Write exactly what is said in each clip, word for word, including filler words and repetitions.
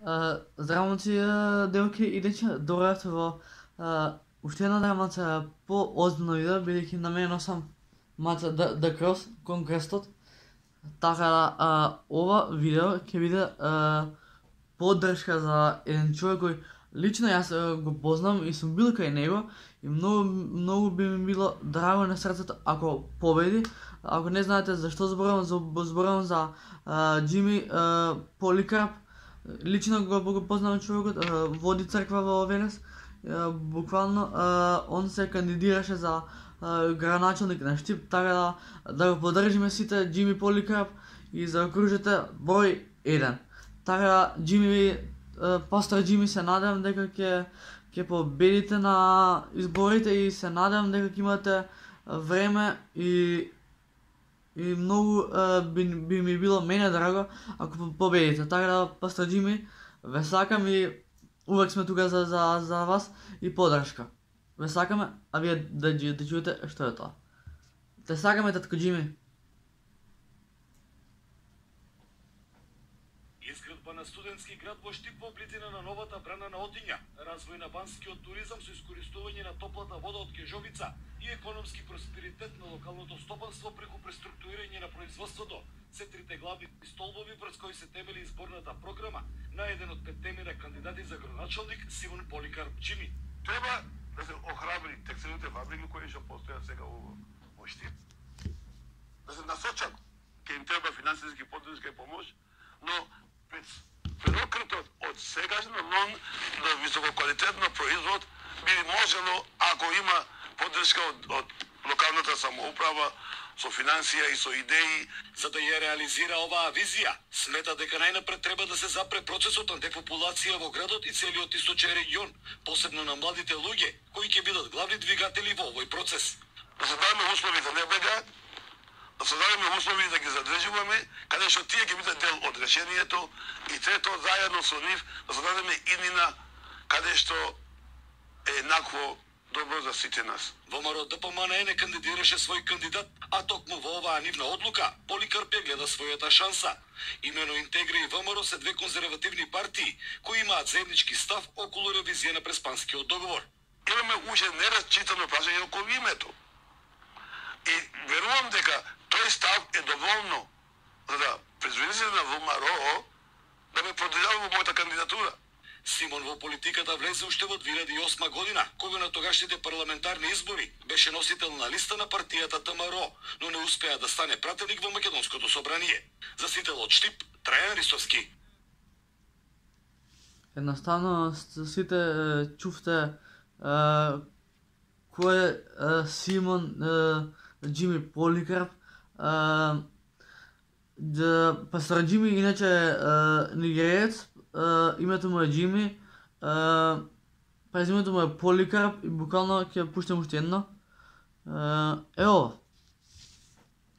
Здраво момци, девојки, иначе доаѓавте во а, уште една драмаца по-озбилно видео, бидејќи на мене носам маца The, The Cross, Конкрестот. Така да, а, ова видео ќе биде а, поддршка за еден човек кој лично јас а, го познам и сум бил кај него и многу многу би ми било драго на срцето ако победи. Ако не знаете зашто зборувам, зборувам за а, Џими а, Поликарп. Лично го, го познавам човекот, а, води црква во Велес. А, буквално а, он се кандидираше за а, градоначалник на Штип, така да да го поддржиме сите Џими Поликарп и заокружете број еден. Така да Џими, а, пастор Џими, се надевам дека ќе ќе победите на изборите и се надевам дека ќе имате време и и многу uh, би, би ми било мене драго ако победите. Така да, пастор Џими, ве сакам и увек сме тука за, за, за вас и поддршка. Ве сакаме, а вие да, да, да чуете што е тоа. Те сакаме, татко Џими. Изградба на студентски град во Штип во близина на новата брана на Отиња, развој на банскиот туризам со искористување на топлата вода од Кежовица и економски просперитет на локалното стопанство преку преструктурирање на производството се трите главни столбови врз кои се темели изборната програма на еден од петтемина кандидати за градоначалник Симон Поликарп Џими. Треба да се охрабри текстилните фабрики кои што постојат сега во Штип, да се насочат, ќе им треба финансиски поддршка и помош, но пренокретот од сегашно нон до висококвалитетно производ би можело ако има поддршка од, од локалната самоуправа со финансија и со идеи. За да ја реализира оваа визија, смета дека најнапред треба да се запре процесот на депопулација во градот и целиот источен регион, посебно на младите луѓе, кои ќе бидат главни двигатели во овој процес. Да се дадеме услови за не бега, да се дадеме услови да ги задржуваме, каде што тие ќе бидат дел од решението и трето, заедно со нив, да се дадеме иднина каде што е еднакво добро за сите нас. ВМРО ДПМН не кандидираше свој кандидат, а токму во оваа нивна одлука Поликарп ја гледа својата шанса. Имено Интегра и ВМРО се две конзервативни партии кои имаат заеднички став околу ревизија на Преспанскиот договор. Имаме уште неразчитано прашање околу името. И верувам дека тој став е доволно за да предзвидите на ВМРО да ме поддржава во мојата кандидатура. Симон во политиката влезе уште во две илјади и осма година, кога на тогашните парламентарни избори беше носител на листа на партијата ВМРО, но не успеа да стане пратеник во Македонското собрание. За сител од Штип, Трајан Ристовски. Едноставно сите чувте кој е Симон Џими Поликарп. Пастор Џими иначе е нигериец, името му е Џими, презимето му е Поликарп и буквално ќе пуштам уште едно. Ево,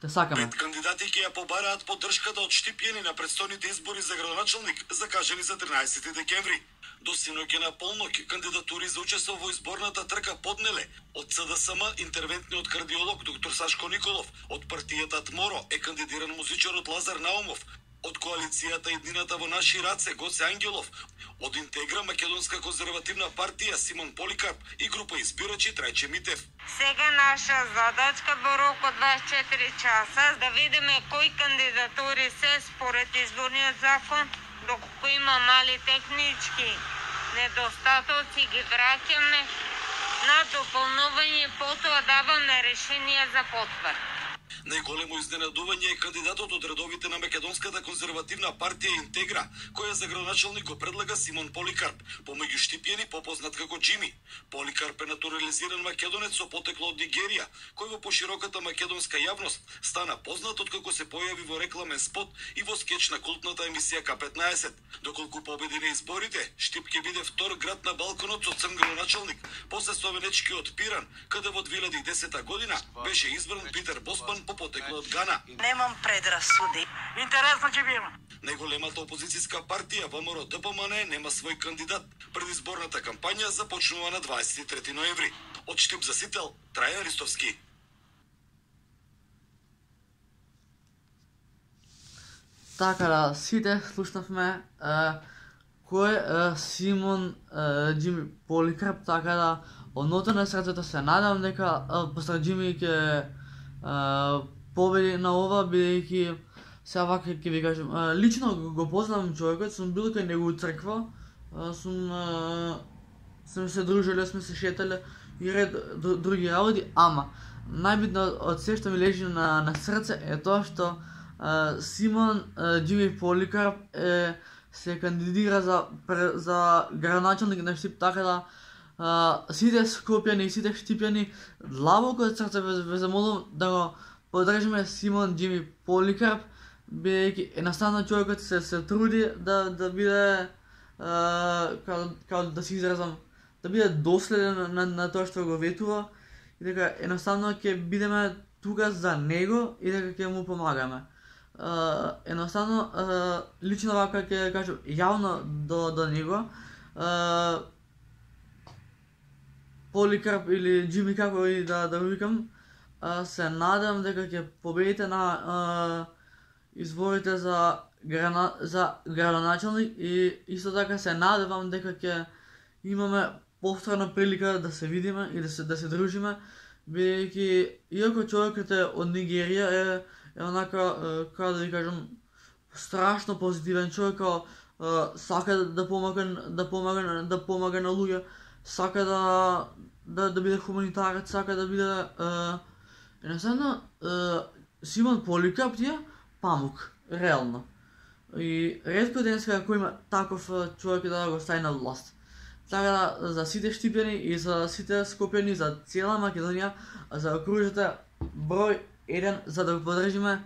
те сакаме. Пет кандидати ќе ја побараат поддршката од штипјани на предстојните избори за градоначалник, закажани за тринаесети декември. До синоќ на полноќ кандидатури за учество во изборната трка поднеле од ЦДСМ интервентниот кардиолог доктор Сашко Николов, од партијата ТМОРО е кандидиран музичарот Лазар Наумов, од коалицијата Еднината во наши раце Гоце Ангелов, од Интегра Македонска конзервативна партија Симон Поликарп и група избирачи Трајче Митев. Сега наша задачка во рок од дваесет и четири часа да видиме кои кандидатури се според изборниот закон, доколку има мали технички недостатоци ги враќаме на дополнување, потоа даваме решение за потврда. Најголемо изненадување е кандидатот од редовите на Македонската конзервативна партија Интегра, која за градоначалник го предлага Симон Поликарп, помеѓу штипјани попознат како Џими. Поликарп е натурализиран македонец со потекло од Нигерија, кој во пошироката македонска јавност стана познат откако се појави во рекламен спот и во скеч на култната емисија К петнаесет. Доколку победи на изборите, Штип ќе биде втор град на балконот со црн градоначалник, после Словенечкиот Пиран, каде во две илјади и десета година беше избран Питер Босман по потекло од Гана. Немам предрасуди. Интересно ќе биде. Најголемата опозицијска партија ВМРО ДПМН нема свој кандидат. Предизборната кампања започнува на дваесет и трети ноември. Од Штип за сител, Трајан Ристовски. Така да, сите слушнавме кој е Симон е, Џими Поликарп, така да од нота на срцето се надам дека постар Џими ќе победи на ова, бидејќи сега вака ќе ви кажам, е, лично го, го познавам човекот, сум бил кај него у црква, е, сум е, сме се дружеле, сме се шетале и ред д, други работи, ама најбитно од се што ми лежи на, на срце е тоа што е, Симон е, Џими Поликарп е се кандидира за за градоначалник на Штип, така да а, сите скопјани и сите штипјани длабоко од срце ве, ве замолувам да го поддржиме Симон Џими Поликарп, бидејќи едноставно човекот се се труди да да биде а, као, као да се изразам, да биде доследен на, на, на тоа што го ветува и дека едноставно ќе бидеме тука за него и дека ќе му помагаме. Uh, едноставно, uh, лично вака ќе кажам јавно до, до него, uh, Поликарп или Џими, како и да, да го викам, uh, се надам дека ќе победите на uh, изборите за, грана, за градоначалник и исто така се надевам дека ќе имаме повторна прилика да се видиме и да се, да се дружиме, бидејќи иако човекот е од Нигерија е е онака, како да ви кажам, страшно позитивен човек, сака да помага да помага да помага на луѓе, сака да да да биде хуманитарец, сака да биде едноставно Симон Поликарп ти е памук, реално. И ретко денеска кој има таков човек да го стави на власт. Така да за сите штипјани и за сите скопјани, за цела Македонија, за да окружите број еден за да го поддржиме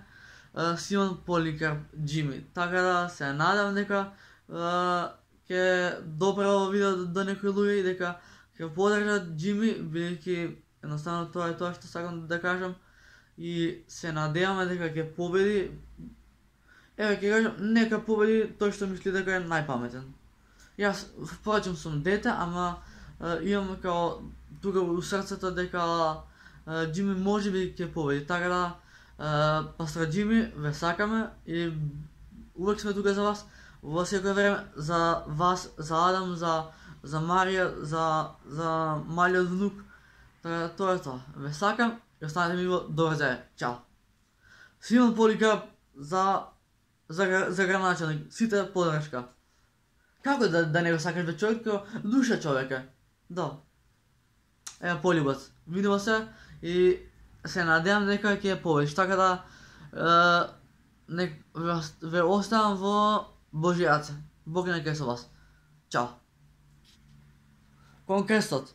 uh, Симон Поликарп Џими. Така да се надам дека uh, ќе допре ово видео до, до некои луѓе и дека ќе поддржат Џими, бидејќи едноставно тоа е тоа што сакам да кажам и се надеваме дека ќе победи. Еве ќе кажам, нека победи тој што мисли дека е најпаметен. Јас впрочем сум дете, ама uh, имам као тука у срцето дека Џими може би ќе победи, така да uh, пастор Џими ве сакаме и увек сме тука за вас во секое време, за вас, за Адам, за за Марија, за за малиот внук. Така тоа е тоа. Ве сакам и останете ми во добро здравје. Чао. Симон Поликарп за за за градоначалник, сите поддршка. Како да да не го сакаш бе човек, душа човека. Да. Ева полюбец. Видимо се и се надевам дека ќе победиш, така да е, не, ве оставам во Божји раце. Бог нека е со вас. Чао. Кон крстот.